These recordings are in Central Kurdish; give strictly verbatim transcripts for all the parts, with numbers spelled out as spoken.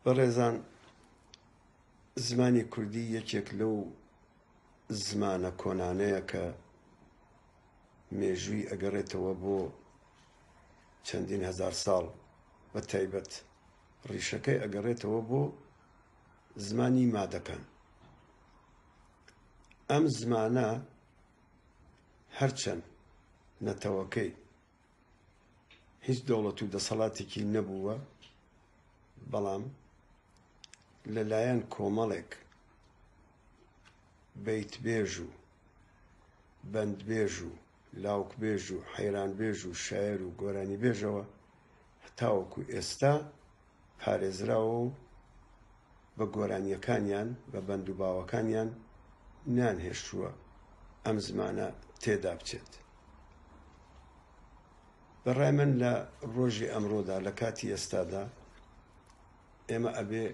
بەڕێزان، زمانی کوردی یەکێک لەو زمانە کۆنانەیە کە مێژووی ئەگەڕێتەوە بۆ چەندین هەزار ساڵ، بە تایبەت ڕیشەکەی ئەگەڕێتەوە بۆ زمانی مادەکان. ئەم زمانە هەرچەند نەتەوەکەی هیچ دەوڵەت و دەسەڵاتێکی نەبووە، بەڵام لەلایەن کۆمەڵێک بەیتبێژ و بەندبێژ و لاوکبێژ و حەیرانبێژ و شاعیر و گۆرانیبێژەوە هەتاوەکو ئێستا پارێزراوە و بە گۆرانیەکانیان بە بەند و باوەکانیان نانهێشتووە ئەم زمانە تێدا بچێت. بەڕای من لە ڕۆژی ئەمڕۆدا لە کاتی ئێستادا ئێمە ئەبێ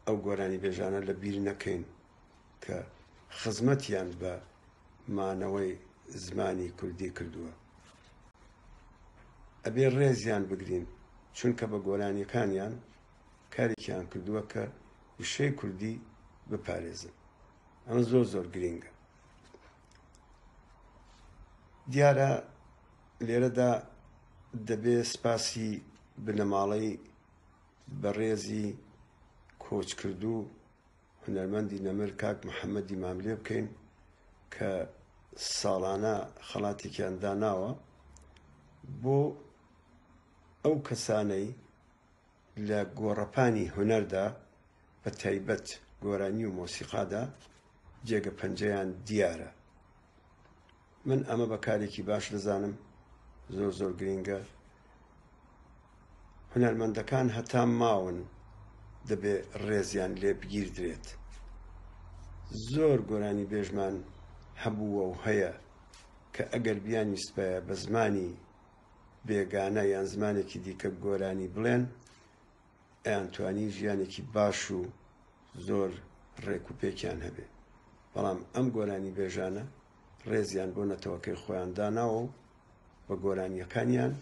ئەو گۆرانی بێژانە لە بیر نەکەین کە خزمەتیان بە مانەوەی زمانی کوردی کردووە. ئەبێ ڕێزیان بگرین، چونکە بە گۆرانیەکانیان کارێکیان کردووە کە وشەی کوردی بپارێزن. ئەمە زۆر زۆر گرینگە. دیارە لێرەدا دەبێ سپاسی بنەماڵەی بەڕێزی کۆچکردوو هونەرمەندی نەمر کاک محەممەدی ماملێ بکەین کە ساڵانە خەڵاتێکیان داناوە بۆ ئەو کەسانەی لە گۆڕەپانی هونەردا بە تایبەت گۆرانی و مۆسیقادا جێگە پەنجەیان دیارە. من ئەمە بە کارێکی باش دەزانم، زۆر زۆر گرینگە. هونەرمەندەکان هەتا ماون دەبێ ڕێزیان لێ بگیردرێت. زۆر گۆرانی بێژمان هەبووە و هەیە کە ئەگەر بیانویستبایە بە زمانی بێگانە یان زمانێکی دیکە گۆرانی بڵێن، ئەیانتوانی ژیانێکی باش و زۆر ڕێک و پێکیان هەبێ. بەڵام ئەم گۆرانی بێژانە ڕێزیان بۆ نەتەوەکەی خۆیان داناوە و بە گۆرانیەکانیان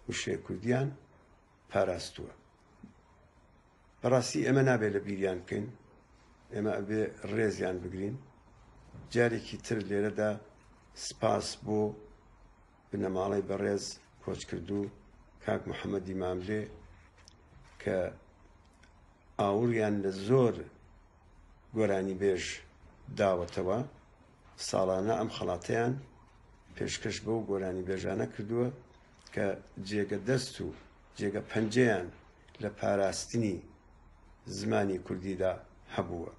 وشەی کوردیان پاراستووە. بەڕاستی ئێمە نابێت لە بیریان بکەین، ئێمە ئەبێ ڕێزیان بگرین. جارێکی تر لێرەدا سپاس بۆ بنەماڵەی بەڕێز کۆچکردوو کاک محەممەدی ماملێ کە ئاوڕیان لە زۆر گۆرانی بێژ داوەتەوە، ساڵانە ئەم خەڵاتەیان پێشکەش بەو گۆرانی بێژانە کردووە کە جێگە دەست و جێگە پەنجەیان لە پاراستنی زمانی کوردیدا هەبووە.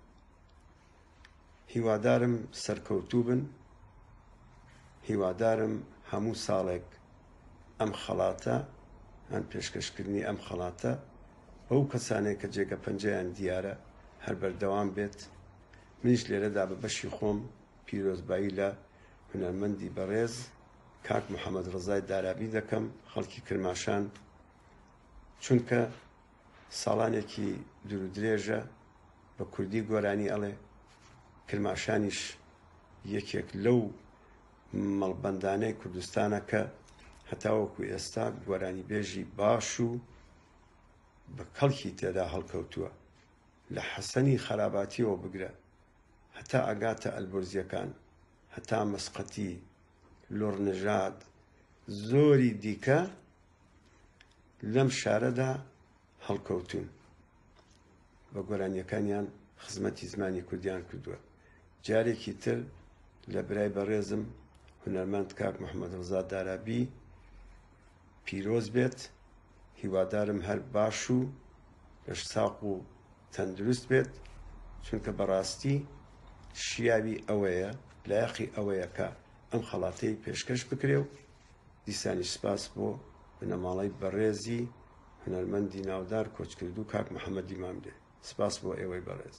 هیوادارم سەرکەوتوو بن، هیوادارم هەموو ساڵێک ئەم خەڵاتە هەن پێشکەشکردنی ئەم خەڵاتە بەو کەسانێک کە جێگە پەنجەیان دیارە هەر بەردەوام بێت. منیش لێرەدا بە بەشی خۆم پیرۆزبایی لە هونەرمەندی بەڕێز کاک محەممەد ڕەزای دارابی دەکەم، خەڵکی کرماشان، چونکە ساڵانێکی دوورودرێژە بە کوردی گۆرانی ئەڵێ. کرماشانیش یەکێک لەو مەڵبەندانەی کوردستانە کە هەتاوەکو ئێستا گۆرانی بێژی باش و بە کەڵکی تێدا هەڵکەوتووە. لە حەسەنی خەراباتیەوە بگرە هەتا ئەگاتە ئەلبۆرزیەکان، هەتا مەسقەتی، لۆڕنەژاد، زۆری دیکە لەم شارەدا هەڵکەوتون. بە گۆرانیەکانیان خزمەتی زمانی کوردیان کردووە. جارێکی تر لە برای بەڕێزم هونەرمەند کاک محەممەد ڕەزا دارابی پیرۆز بێت. هیوادارم هەر باش و لەش ساق و تەندروست بێت، چونکە بەڕاستی شیاوی ئەوەیە، لایەقی ئەوەیە کە ئەم خەڵاتەی پێشکەش بکرێ و دیسانی سپاس بۆ بنەماڵەی بەڕێزی هونەرمەندی ناودار کۆچکردوو کاک محەممەدی ماملێ. سپاس بۆ ئێوەی بەڕێز.